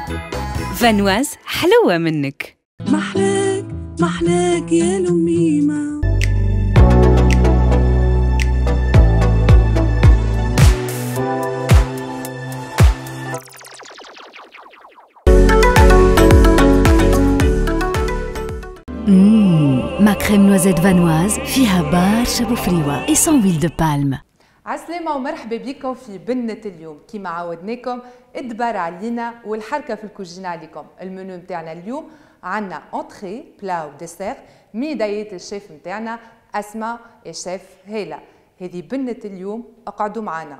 Vanoise حلوة منك. محلاك محلاك يا لميمة. ma crème noisette Vanoise فيها برشا بوفريوة et sans huile de palme. عسلامة ومرحبا بكم في بنة اليوم. كيما عودناكم الدبار علينا والحركة في الكوجينة عليكم. المنيو نتاعنا اليوم عندنا entrée، plat و dessert، ميدايات الشيف نتاعنا أسماء الشيف هيلا. هذه بنة اليوم، اقعدوا معنا.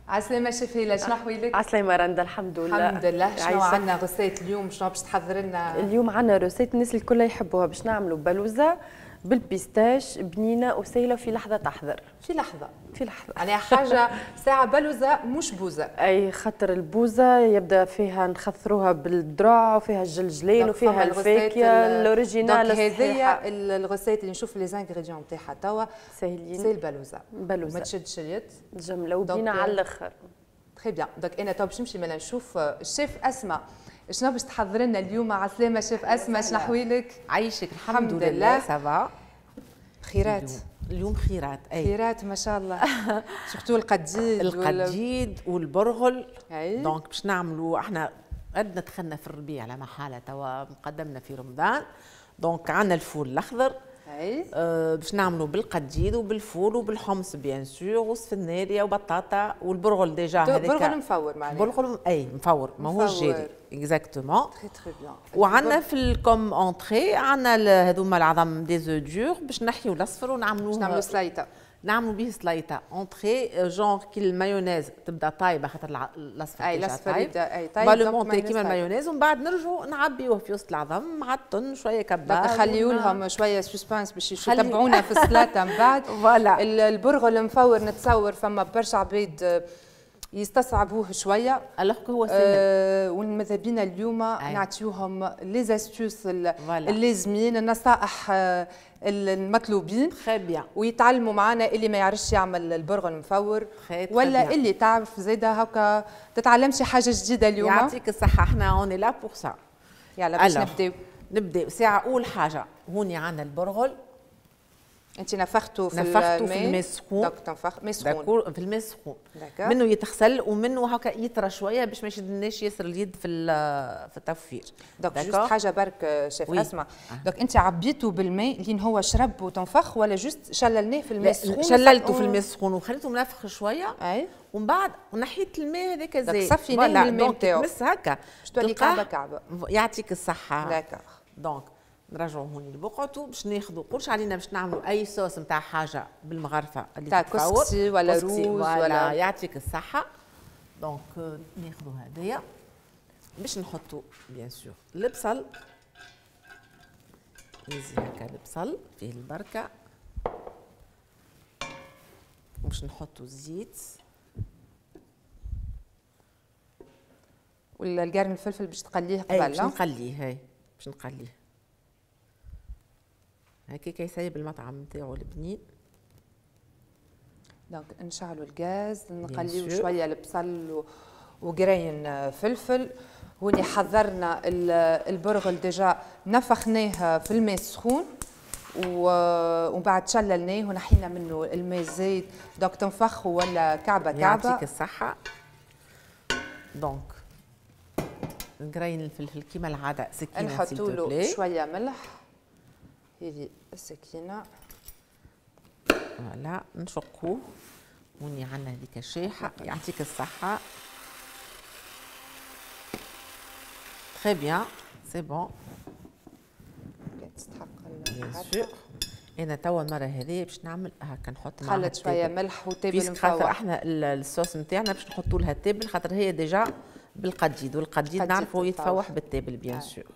عسلامة شيف هيلا، شنو احوالك؟ عسلامة رندا، الحمد لله. الحمد لله. شنو عندنا recette اليوم؟ شنو باش تحضر لنا؟ اليوم عندنا recette الناس الكل يحبوها، باش نعملوا بلوزة بال pistache بنينه وسهلة في لحظة تحضر. في لحظة، في لحظة يعني حاجة ساعة بلوزة مش بوزه. اي خاطر البوزه يبدا فيها نخثروها بالدرع وفيها الجلجلين وفيها الفاكهة ال originale. هذيا ال recette اللي نشوف les ingrédients نتاعها توا ساهلين. c'est البلوزة، بلوزة ما تشدش اليد جملة وبنينه على الاخر. très bien. donc انا تو باش نمشي مالا نشوف الشيف اسماء شنو باش تحضر لنا اليوم. عسلامة شيف اسماء، شنو احوالك؟ عايشك الحمد لله، ça va. خيرات اليوم، خيرات. اي خيرات ما شاء الله. surtout القديد، القديد والبرغل. donc باش نعملوا احنا عندنا دخلنا في الربيع لا محالة، توا مقدمنا في رمضان. donc عندنا الفول الاخضر. اي باش نعملوا بالقديد وبالفول وبالحمص bien sûr وسفناريا وبطاطا والبرغل déjà. هذاك برغل مفور معناها. برغل اي مفور، ماهوش جاري. exactement. très très bien. وعندنا في comme entrée عندنا هذوما العظم des œufs durs باش نحيو الاصفر ونعملوه، باش نعملوا سليطه، نعملوا به سليطه entrée genre كي المايونيز تبدا طايبه، خاطر الاصفر اي الاصفر يبدا اي طايب بالمونتي كيما المايونيز، ومن بعد نرجعوا نعبيوه في وسط العظم مع الطن شوية كبار. نخليو لهم شوية suspense باش يتبعونا في السلطة من بعد. voilà. البرغل المفور نتصور فما برشا عباد يستصعبوه شوية، alors هو سهل. وماذا بينا اليوم نعطيوهم les astuces اللازمين، النصائح المطلوبين. très bien. ويتعلموا معنا اللي ما يعرفش يعمل البرغل المفور ولا اللي تعرف زاده هكا تتعلم شي حاجة جديدة اليوم. يعطيك الصحة، احنا on est là pour ça. يلا باش نبداو. نبداو ساعة. اول حاجة هوني عندنا البرغل. انت نفخته في نفخته في الماء السخون. donc تنفخ ماء سخون في الماء السخون، منه يتغسل ومنه هكا يطرى شوية باش ما يشدناش ياسر اليد في التوفير. donc juste حاجة برك شيف اسماء، donc انت عبيته بالماء لين هو شرب وتنفخ ولا juste شللناه في الماء السخون؟ شللته في الماء السخون وخليته منفخ شوية. اي ومن بعد نحيت الماء هذاك زايد، صفيناه من الماء نتاعو بس هكا باش تولي كعبه كعبه. يعطيك الصحة. d'accord. donc نرجعوا هوني لبقعته باش ناخذوا قولش علينا باش نعملوا اي صوص نتاع حاجة بالمغرفه اللي تاع كسكسي ولا روز ولا. يعطيك الصحة. donc ناخذوا هذايا باش نحطوا bien sûr البصل، يزي هكا البصل فيه البركة، وباش نحطوا الزيت والقرن الفلفل باش تقليه قبل. باش نقليه، هاي باش نقليه هكاك يسيب المطعم نتاعو البنين. donc نشعلوا الغاز، نقليو شوية البصل وقرين فلفل. هوني حضرنا البرغل déjà نفخناه في الماء السخون ومن بعد شللناه ونحينا منه الماء الزايد. donc تنفخ ولا كعبه كعبه. يعطيك الصحة. donc قرين الفلفل كيما العادة سكينة، نحطوا له شوية ملح، هذه السكينة. voilà نشقوه. هوني عندنا هذيك الشيحة. يعطيك الصحة. très bien، c'est bon. تستحق bien sûr. انا توا المرة هذه باش نعمل هكا نحط معاها خلط شوية ملح وتابل مفور. خاطر احنا الصوص نتاعنا باش نحطوا لها التابل، خاطر هي déjà بالقديد، والقديد نعرفوا يتفوح بالتابل bien sûr.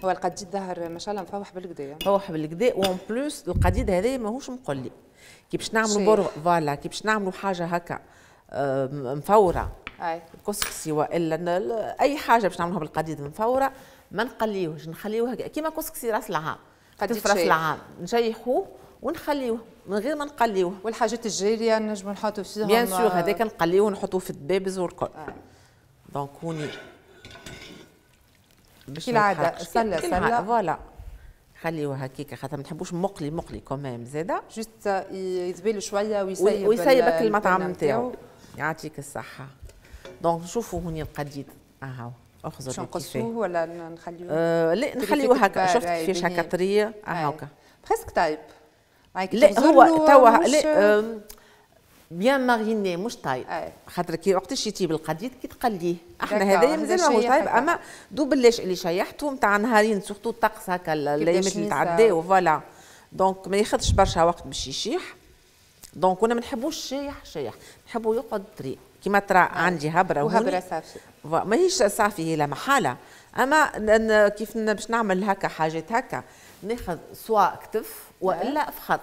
هو القديد ظهر ما شاء الله مفوح بالقدا، مفوح بالقدا. و en plus القديد هذا ماهوش مقلي. كي باش نعملوا برغ voilà، كي باش نعملوا حاجة هكا مفوره كسكسي والا اي حاجة باش نعملوها بالقديد مفوره، ما نقليوهش، نخليوه كيما كسكسي راس العام. قديد راس العام نشيحوه ونخليوه من غير ما نقليوه. والحاجات الجارية نجمو نحطوا فيهم bien sûr، هذاك نقليوه ونحطوه في الدبابز والكل. donc هوني باش كالعادة سله سله voilà خليوه هكاك خاطر ما نحبوش مقلي مقلي quand même زاده juste يذبل شوية ويسيب ويسيبك المطعم نتاعو. يعطيك الصحة. donc نشوفوا هوني القديد اهو اخزر باش نقصوه ولا نخليوه؟ لا نخليوه هكا. شفت كيفاش هكا طرية هكا presque طايب. لا هو توا لا bien mariné مش طايب، خاطر كي وقتاش يطيب القديد كي تقليه. احنا هذايا مازال ماهوش طايب، اما دوب اللاش اللي شيحته نتاع نهارين surtout الطقس هكا الايامات اللي تعداو voilà. donc ما ياخذش برشا وقت باش يشيح. donc انا ما نحبوش شايح شايح، نحبو يقعد طري كيما ترى. عندي هبره وهبره صافي، ماهيش صافي هي لا محالة، اما كيف باش نعمل هكا حاجات هكا ناخذ سواء كتف والا فخذ.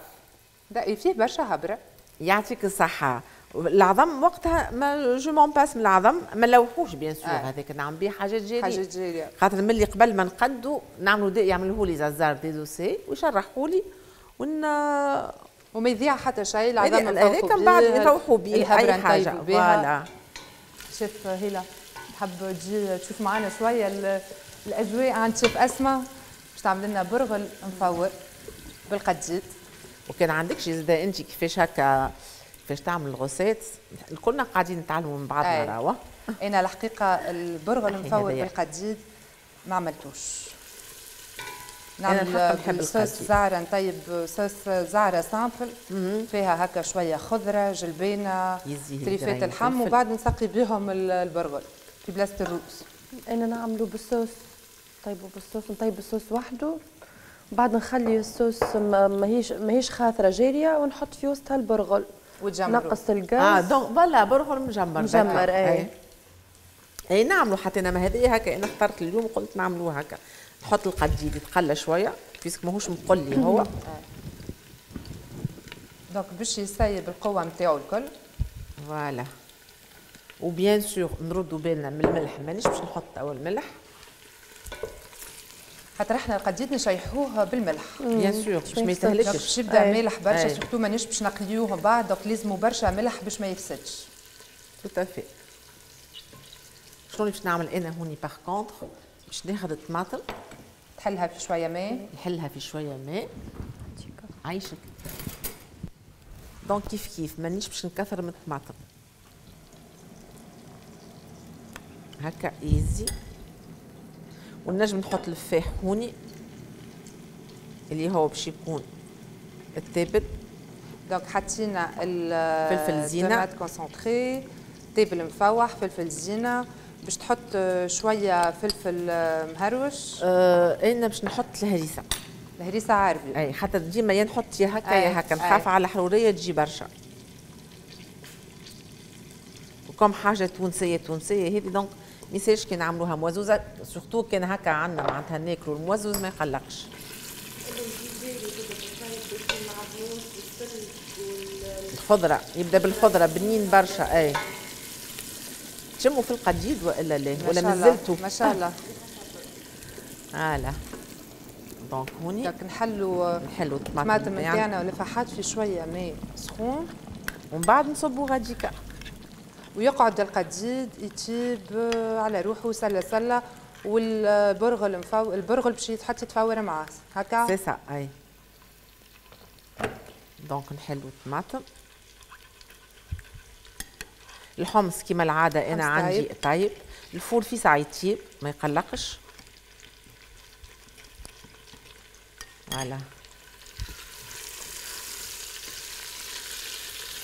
لا فيه برشا هبره. يعطيك الصحة. العظم وقتها ما je m'en passe من العظم، ما نلوحوش bien sûr، هذاك نعمل بيه حاجات جارية. حاجات جارية خاطر ملي قبل ما نقدو نعملوا دي يعملوه لي زازار désossé ويشرحوا لي وما يضيع حتى شيء. العظم هذاك من بعد يروحوا بيه اي حاجة voilà. شيف هيلا تحب تجي تشوف معنا شوية الاجواء عند شيف اسماء باش تعمل لنا برغل مفور بالقديد. وكان عندك شي زاده انت كيفاش هكا كيفاش تعمل ال recette، الكلنا قاعدين نتعلموا من بعضنا راهو. انا الحقيقة البرغل المفور بالقديد ما عملتوش. نعمل صوص زعره، نطيب صوص زعره simple فيها هكا شوية خضرة جلبانه تريفات اللحم وبعد نسقي بهم البرغل في بلاصة الروز. انا نعملو بالصوص، نطيبو بالصوص، نطيب الصوص وحده بعد نخلي الصوص ماهيش خاثره جارية ونحط في وسطها البرغل وتجمرو. نقص الغاز. donc voilà برغل مجمر. مجمر اي اي نعملو حتى انا ما هذه هكا انا اخترت اليوم قلت نعملوه هكا. نحط القديد يتقلى شوية puisque ماهوش مقلي هو. donc باش يسيب القوة نتاعو الكل. voilà و bien sûr نردو بالنا من الملح، مانيش باش نحط اول ملح خاطر احنا القديد نشيحوه بالملح bien sûr باش ما يتهلكش، باش يبدا مالح برشا surtout مانيش باش نقليوه بعد، donc لازمو برشا ملح باش ما يفسدش. tout à fait. شنو اللي باش نعمل انا هوني par contre؟ باش ناخذ الطماطم تحلها في شوية ماء، نحلها في شوية ماء. عايشك. donc كيف كيف مانيش باش نكثر من الطماطم هكا ايزي. ونجم نحط الفاح هوني اللي هو باش يكون التابل. donc حطينا فلفل زينة، tomate concentrée، تابل مفوح، فلفل زينة، باش تحط شوية فلفل مهروش. انا باش نحط الهريسه. الهريسه عربي. اي خاطر ديما يا نحط يا هكا يا هكا، نخاف على الحرورية تجي برشا. وكم حاجة تونسية تونسية هذه donc ما يسالش كي نعملوها موزوزه، surtout كان هكا عندنا معناتها ناكلوا الموزوز ما يقلقش. الخضرة يبدا بالخضره بنين برشا. اي تشموا في القديد والا لا؟ ولا مازلتوا؟ ما شاء الله. voilà donc هوني donc نحلوا الطماطم نتاعنا والفاحات في شوية ماء سخون ومن بعد نصبوا غاديكا ويقعد القديد يطيب على روحه سله سله، والبرغل البرغل باش يتحط يتفور معاه هكا. c'est ça اي. donc نحلوا الطماطم. الحمص كما العادة انا عندي طيب، الفول في ساعة يطيب ما يقلقش. voilà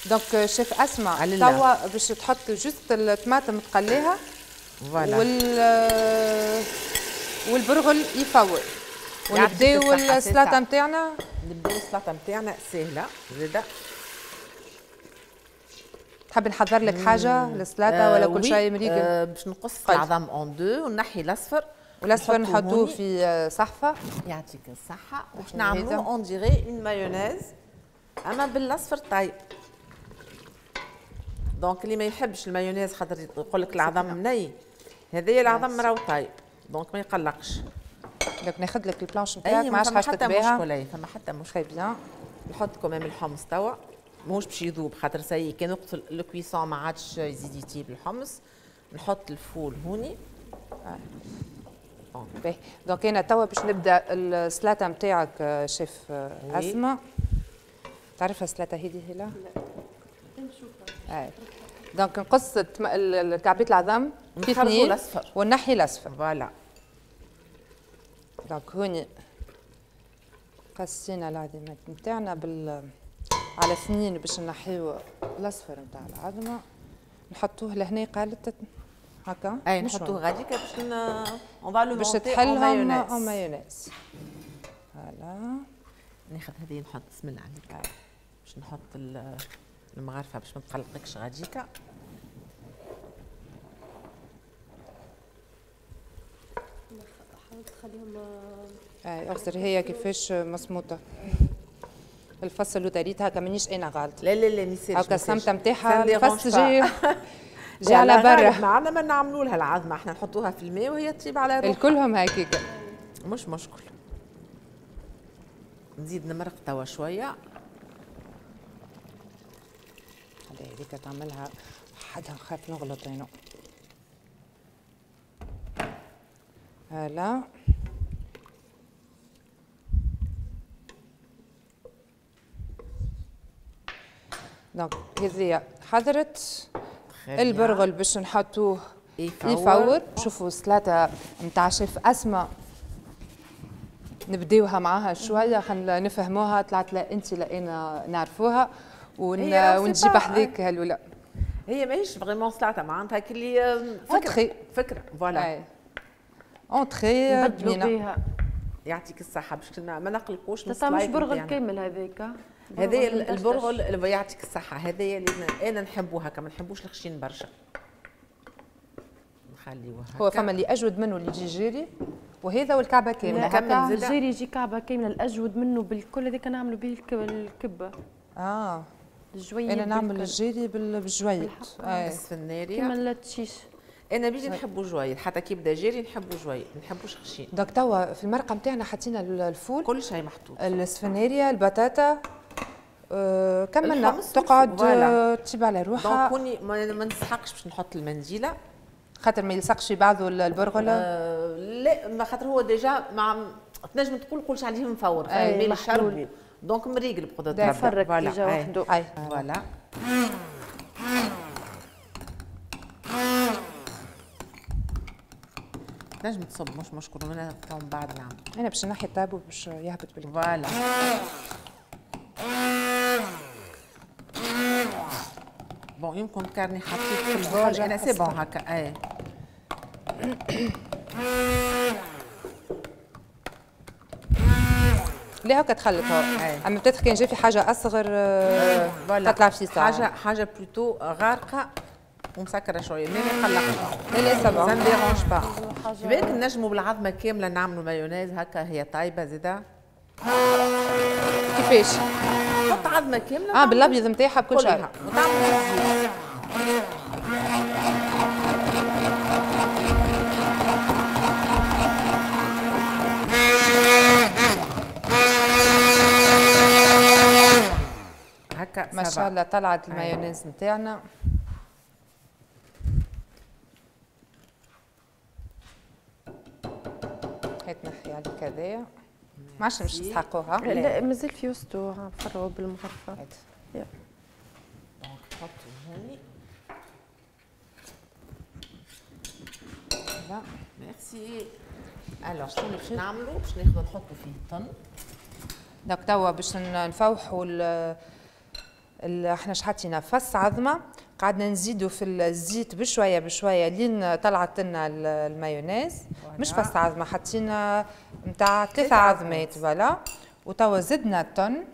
donc chef اسماء توا باش تحط juste الطماطم تقليها voilà والبرغل يفور ونبداو السلطة نتاعنا. نبداو السلطة نتاعنا ساهله زاده. تحب نحضر لك حاجة للسلطة ولا كل شيء مريقل؟ باش نقص العظم en deux ونحي الاصفر، والاصفر نحطوه في صحفه. يعطيك الصحة. وباش نعملوه on dirait une mayonnaise اما بالاصفر طيب. donc اللي ما يحبش المايونيز خاطر يقول لك العظم ني، هذايا العظم راهو طيب donc ما يقلقش. donc ناخذ لك ال planche نتاعك ما عادش حاجتك بها. مشكلة فما حتى مشكل. très bien. نحط quand même الحمص توا ماهوش باش يذوب خاطر ça y est كان وقت ال cuisson ما عادش يزيد يطيب الحمص. نحط الفول هوني. باهي donc انا توا باش نبدا السلطة نتاعك شيف اسماء. تعرفها السلطة هذه هلا؟ لا نشوفها. donc نقص كعبات العظم في اثنين الاصفر ونحي الاصفر. voilà donc هوني قصينا العظمات نتاعنا على اثنين باش نحيو الاصفر نتاع العظمة. نحطوه لهنا قالت هكا. اي نحطوه غاديكا باش on va le باش تحلهم en mayonnaise. voilà ناخذ هذه نحط بسم الله عليك باش نحط المغرفه باش ما تقلقكش غاديكا. حاول تخليهم اي اغزر هي كيفاش مصموطه الفصل وتريت هكا مانيش انا غلط. لا لا لا ما يصيرش هكا السمطه نتاعها الفص جي على برا. ما عندنا ما نعملوا لها العظمة، احنا نحطوها في الماء وهي تطيب على روحها. الكلهم هكاك مش مشكل. نزيد نمرق توا شوية. هذيك تعملها حدها نخاف نغلط انا. voilà donc هذه حضرت البرغل باش نحطوه يفور. شوفوا السلطة نتاع شيف اسماء نبداوها معاها شوية خلينا نفهموها. طلعت لا انت لا انا نعرفوها ونجيب حذيك هالولا. هي ماهيش vraiment سلطة معناتها كلي فكرة فكرة voilà entrée بنينه. يعطيك الصحة باش ما نقلقوش. مش برغل كامل هذاك. هذا البرغل اللي يعطيك الصحة هذا اللي انا نحبه هكا، ما نحبوش الخشين برشا. نخليوه هكا. هو فما اللي اجود منه اللي يجي جيري وهذا والكعبة كاملة. هكا الجيري يجي كعبه كاملة، الاجود منه بالكل هذاك نعملوا به الكبه. الجويد انا نعمل الجيري بالجويد السفناريه كيما التشيش. انا بيجي نحبوا جويد حتى كي يبدا جيري نحبوا جويد ما نحبوش خشين. donc توا في المرقه نتاعنا حطينا الفول كل شيء محطوط، السفناريه، البطاطا، كملنا تقعد تطيب على روحها. donc كوني ما نسحقش باش نحط المنديله خاطر ما يلصقش بعضه البرغله. لا ما خاطر هو déjà مع تنجم تقول كلش عليه مفور الماء شربو donc مريقل بقدرة ربي. voilà déjà وحده. voilà تنجم تصب مش مشكل وانا من بعد نعمل. انا باش نحي الطابو باش يهبط بالكل. voilà bon يمكن كارني حطيت في ال bol انا c'est bon هكا. اي لا هكا تخلط هو. اما peut-être كان جا في حاجة اصغر تطلع في ساعة. حاجة plutôt غارقة ومسكره شوية ما يقلقش. لا لا ça va ça dérange pas. بالك نجموا بالعظمة كاملة نعملوا مايونيز هكا هي طايبه زاده. كيفاش؟ حط عظمه كاملة بالابيض نتاعها بكل شيء وتعمل هكا. ما شاء الله طلعت المايونيز نتاعنا. هات نحي عليك هذايا ما عادش باش تسحقوها. لا مازال في وسطو نفرغوا بالمغرفه. donc نحطو هوني. لا merci. alors شنو باش نعملو؟ باش ناخذو نحطو فيه الطن. donc توا باش نفوحوا احنا حطينا فص عظمه، قعدنا نزيدوا في الزيت بشوية بشوية لين طلعت لنا المايونيز. مش فص عظمه، حطينا نتاع 3 عظمات voilà. وتوا زدنا الطن،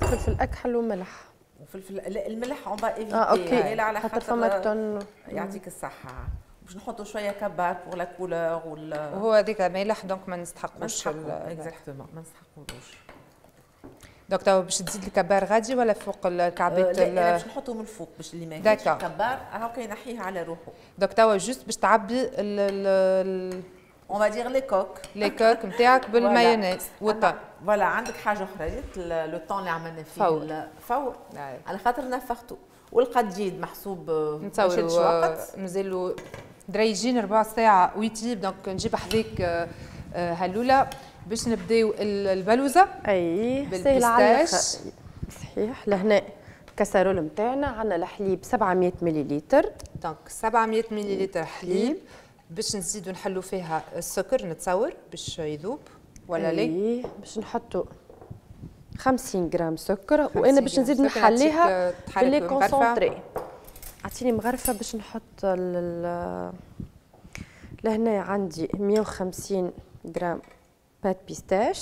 فلفل اكحل وملح. وفلفل الملح on va éviter OK على خاطر فما الطن. يعطيك الصحة. باش نحطوا شوية كبار pour la couleur وهو هذيك مالح donc ما نستحقوش exactement ما نستحقوش. donc توا باش تزيد الكبار غادي ولا فوق الكعبات؟ لا باش نحطو من الفوق باش اللي ما ياكلش الكبار هاكا ينحيه على روحه. donc توا juste باش تعبي on va dire les coques les coques نتاعك بالمايونيز والطن. voilà عندك حاجة اخرى ريت le thon اللي عملنا فيه فور على خاطر نفختو والقديد محسوب نتصوروا مازالوا دريجين ربع ساعة ويطيب. donc نجيب حذاك هلوله باش نبداو البلوزة. اي سهلة على الاخر. صحيح. لهنا الكاسرول نتاعنا عندنا الحليب 700 مليلتر. donc 700 مليلتر حليب باش نزيدو نحلو فيها السكر نتصور باش يذوب ولا لا؟ اي باش نحطو 50 غرام سكر، وانا باش نزيد نحليها بال lait concentré. اعطيني مغرفه باش نحط لهنا عندي 150 غرام pâte pistache،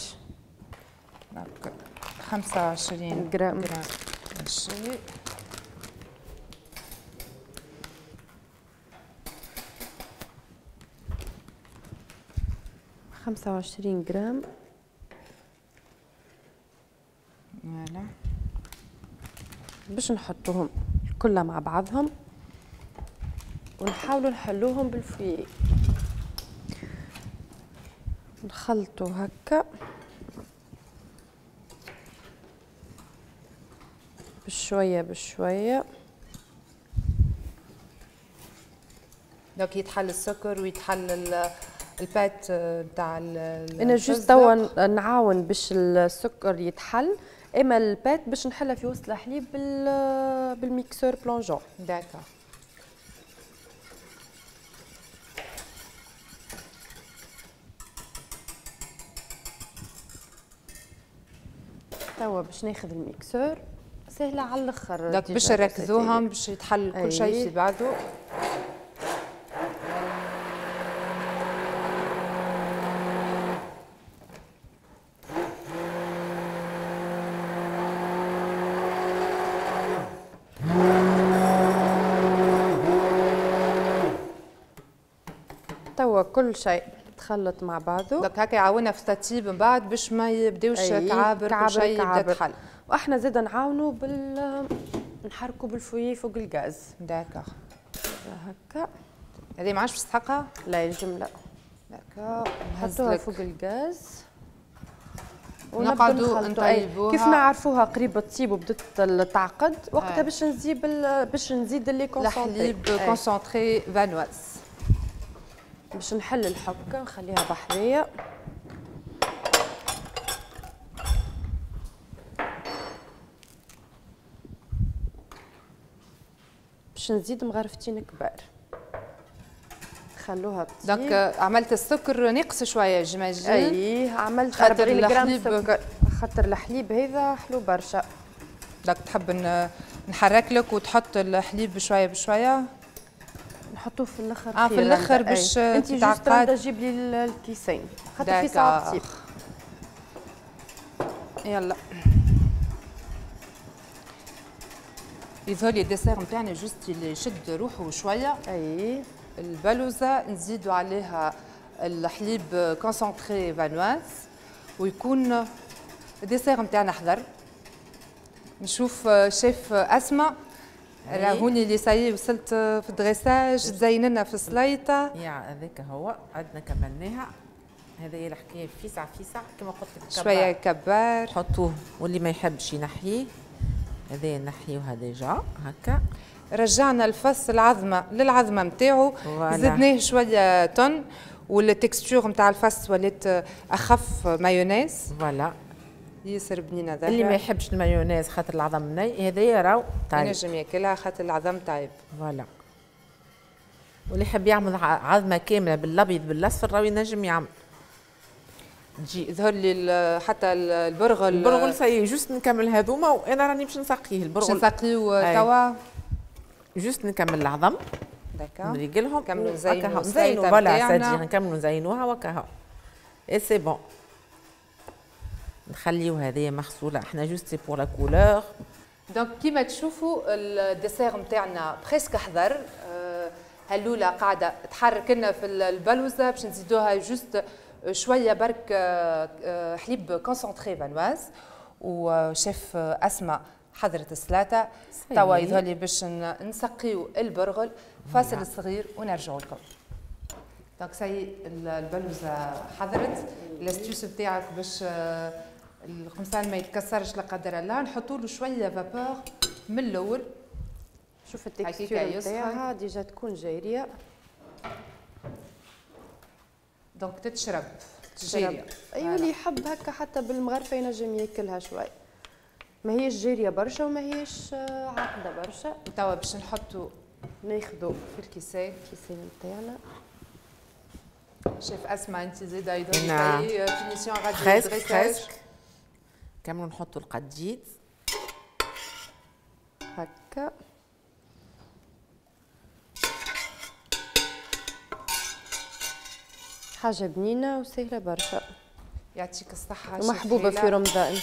25 غرام شيء، 25 غرام. voilà باش نحطوهم كلها مع بعضهم ونحاولوا نحلوهم بال fouet. نخلطوا هكا بشوية بشوية. donc يتحل السكر ويتحل ال pâte نتاع. انا juste توا نعاون باش السكر يتحل، اما ال pâte باش نحلها في وسط الحليب بال mixeur plongeant. d'accord. توا باش ناخذ ال mixeur، سهلة على الاخر. donc باش نركزوهم باش يتحل كل شيء في بعضه. توا كل شيء تخلط مع بعضه. donc هكا يعاونا في التطيب من بعد باش ما يبداوش كعابر، كل شيء يبدا تحل. واحنا زاد نعاونوا نحركوا بال fouet فوق الغاز. d'accord. هكا هذه ما عادش باش تسحقها؟ لا الجملة. d'accord. نحطوها فوق الغاز ونقعدوا نطيبوها. كيف نعرفوها قريبه تطيب وبدت تعقد وقتها باش نزيد باش نزيد lait concentré، الحليب concentré Vanoise. باش نحل الحكة نخليها بحذيه. باش نزيد مغرفتين كبار، خلوها تطيب. donc عملت السكر ناقص شوية j'imagine. اي عملت 40 غرام سكر خاطر الحليب هذا حلو برشا. donc تحب نحرك لك وتحط الحليب بشوية بشوية؟ نحطوه في الاخر. في الاخر باش انت juste تجيب لي الكيسين خاطر في ساعة تطيب. يلا يظهر لي ال dessert نتاعنا juste اللي يشد روحه شوية. اي البلوزة نزيدوا عليها الحليب concentré Vanoise ويكون ال dessert نتاعنا حضر. نشوف شيف اسماء راهوني اللي ça y est وصلت في ال dressage، تزين لنا في السليطه. يا هذاك هو عندنا كملناها. هذه هي الحكاية فيسع فيسع كما قلت لك، شوية كبار حطوه واللي ما يحبش ينحيه هذا نحيوها déjà هكا. رجعنا الفص العظمة للعظمه نتاعو، زدناه شوية thon وال texture نتاع الفص ولات اخف مايونيز. voilà ياسر بنينه ذا. اللي ما يحبش المايونيز خاطر العظم ني هذايا راهو طايب، ينجم ياكلها خاطر العظم طايب. voilà واللي يحب يعمل عظمه كاملة بالابيض بالاصفر راهو ينجم يعمل. تجي ظهر لي حتى البرغل. البرغل ça y est juste نكمل هذوما وانا راني باش نسقيه البرغل. باش نسقيو توا juste نكمل العظم. d'accord نريقلهم نكملوا نزينوا نزينوا voilà c'est-à-dire نكملوا نزينوها وكاها et c'est bon. نخليو هذه مغسوله احنا juste c'est pour la couleur. donc كيما تشوفوا ال dessert نتاعنا presque حضر. هلوله قاعدة تحرك لنا في البلوزة باش نزيدوها juste شوية برك حليب concentré Vanoise. و chef اسماء حضرت السلطة توا يظهر لي باش نسقيو البرغل. فاصل صغير ونرجعوا لكم. donc ça y est البلوزة حضرت. l'astuce نتاعك باش القمصان ما يتكسرش لا قدر الله نحطوا له شوية vapeur من الاول. شوف ال texture نتاعها déjà تكون جارية. donc تتشرب جارية. ايوا اللي يحب هكا حتى بالمغرفه ينجم ياكلها شوي، ما هيش جارية برشا وما هيش عاقده برشا. توا باش نحطوا ناخذوا في الكيسان الكيسان نتاعنا. شيف اسماء انت زاده يظهر finition غادي presque. كملوا نحطوا القديد هكا. حاجة بنينه وسهلة برشا. يعطيك الصحة ومحبوبه في رمضان.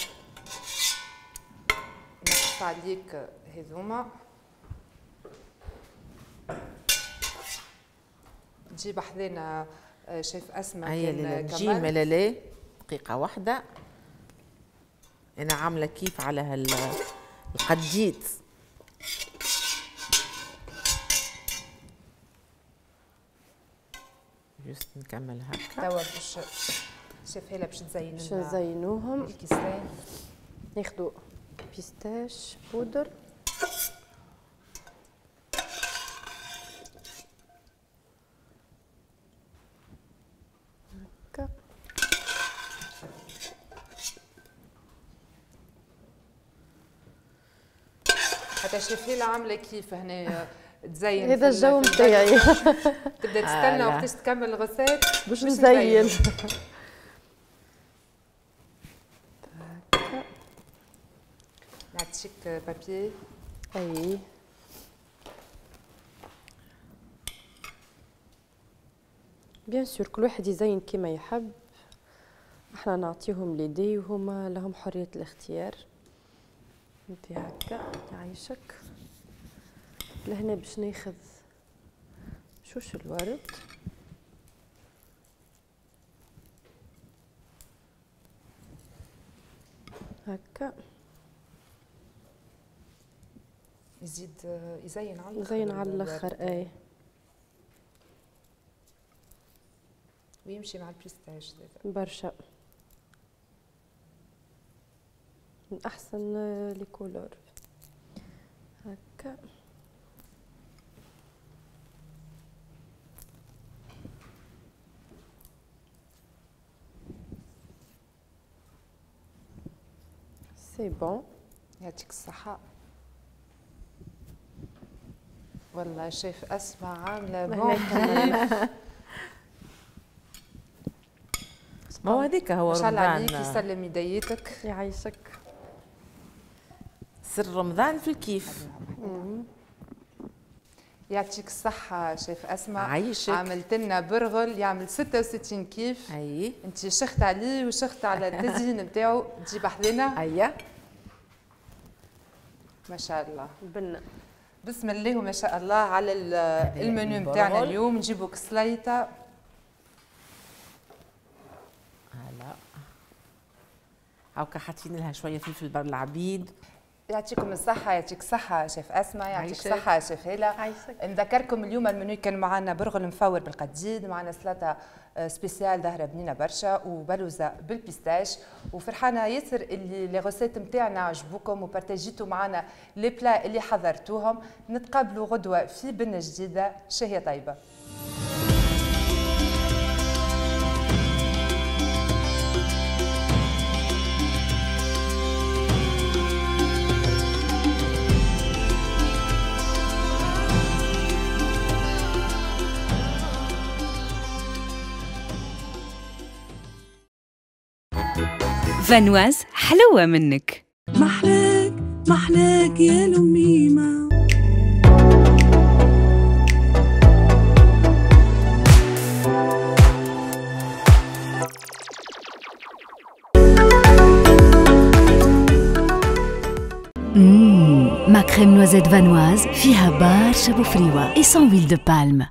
نقص عليك هذوما. تجيب حذانا شيف اسماء. هيا نجي لا لا دقيقة واحدة. انا عامله كيف على هالقديد. juste نكمل هكا. توا باش شيف هيلا باش تزين باش نزينوهم الكيسان. ناخذوا pistache poudre. هكا حتى شيف هيلا عامله كيف هنا تزين. هذا الجو نتاعي. تبدا تستنى وقتاش تكمل ال recette باش نزين. نعطيك papier. اي bien sûr كل واحد يزين كيما يحب، احنا نعطيهم l'idée وهما لهم حرية الاختيار. انت هكا يعيشك. لهنا باش ناخذ شوش الورد. هكا يزيد يزين على الاخر. يزين على الاخر اي، ويمشي مع ال pistache برشا. من احسن les couleurs هكا. c'est bon. يعطيك الصحة. والله شيف أسماء عاملة bon. ما هو هذيك هو رمضان. ما شاء الله عليك، يسلم يديتك. يعيشك. سر رمضان في الكيف. يعطيك الصحة شيف أسماء. عايشك. عملت لنا برغل يعمل 66 كيف. أي. أنت شخت عليه وشخت على التزيين نتاعو، تجيب حذنا. أيا. ما شاء الله. بنا. بسم الله وما شاء الله على المنيو نتاعنا اليوم. نجيبوك سليطة. هلا. هاكا حاطين لها شوية فلفل بر العبيد. يعطيكم الصحة، يعطيك الصحة شيف أسماء، يعطيك الصحة شيف هالة. نذكركم اليوم المنيو كان معنا برغل مفور بالقديد، معنا سلطة spéciale ظاهرة بنينة برشا، وبلوزة بال pistache. وفرحانة ياسر اللي les recettes نتاعنا عجبوكم وبارتاجيتوا معنا les plats اللي حضرتوهم. نتقابلوا غدوة في بنة جديدة. شهية طيبة. فانواز حلوة منك. محلاك محلاك يا لميمة. ma crème noisette Vanoise فيها برشا بوفريوة et sans huile de palme.